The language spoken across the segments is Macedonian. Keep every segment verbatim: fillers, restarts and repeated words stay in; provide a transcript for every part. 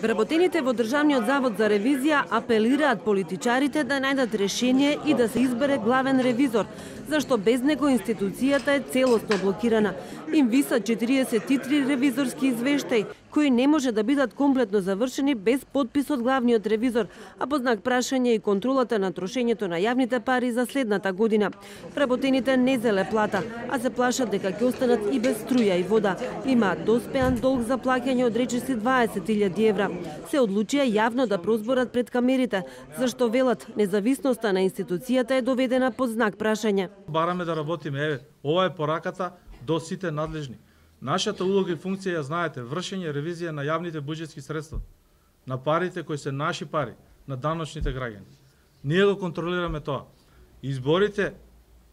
Вработените во Државниот завод за ревизија апелираат политичарите да најдат решение и да се избере главен ревизор, зашто без него институцијата е целосно блокирана. Им висат четириесет и три ревизорски извештаи, кои не може да бидат комплетно завршени без подпис од главниот ревизор, а по знак прашање и контролата на трошењето на јавните пари за следната година. Вработените не зеле плата, а се плашат дека ќе останат и без струја и вода. Имаат доспеан долг за плаќање од речиси дваесет илјади евра. Се одлучија јавно да прозборат пред камерите, зашто велат независноста на институцијата е доведена под знак прашање. Бараме да работиме, еве, ова е пораката до сите надлежни. Нашата улога и функција ја знаете, вршење ревизија на јавните буџетски средства, на парите кои се наши пари, на даночните граѓани. Ние го контролираме тоа. Изборите,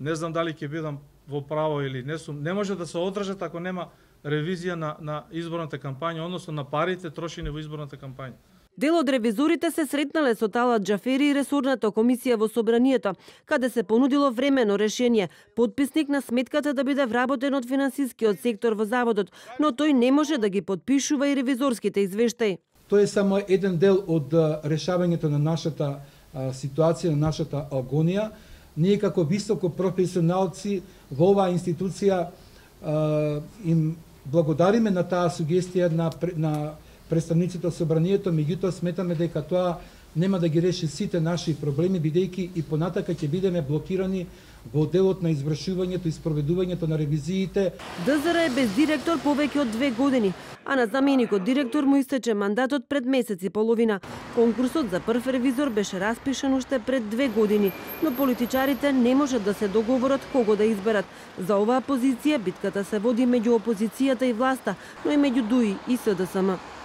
не знам дали ќе бидам во право или не сум, не може да се одржат ако нема ревизија на, на изборната кампања, односно на парите трошени во изборната кампања. Дел од ревизорите се сретнале со Талат Џафери и ресорната комисија во собранието, каде се понудило времено решение, подписник на сметката да биде вработен од финансискиот сектор во заводот, но тој не може да ги подпишува и ревизорските извештаи. Тој е само еден дел од решавањето на нашата а, ситуација, на нашата агонија. Ние како високо професионалци во оваа институција а, им благодариме на таа сугестија на, на представниците од собранието, меѓутоа сметаме дека тоа нема да ги реши сите наши проблеми, бидејќи и понатака ќе бидеме блокирани во делот на извршувањето и спроведувањето на ревизиите. ДЗР е без директор повеќе од две години, а на заменикот директор му истече мандатот пред месец и половина. Конкурсот за прв ревизор беше распишан уште пред две години, но политичарите не можат да се договорат кого да изберат. За оваа позиција битката се води меѓу опозицијата и власта, но и меѓу ДУИ и СДСМ.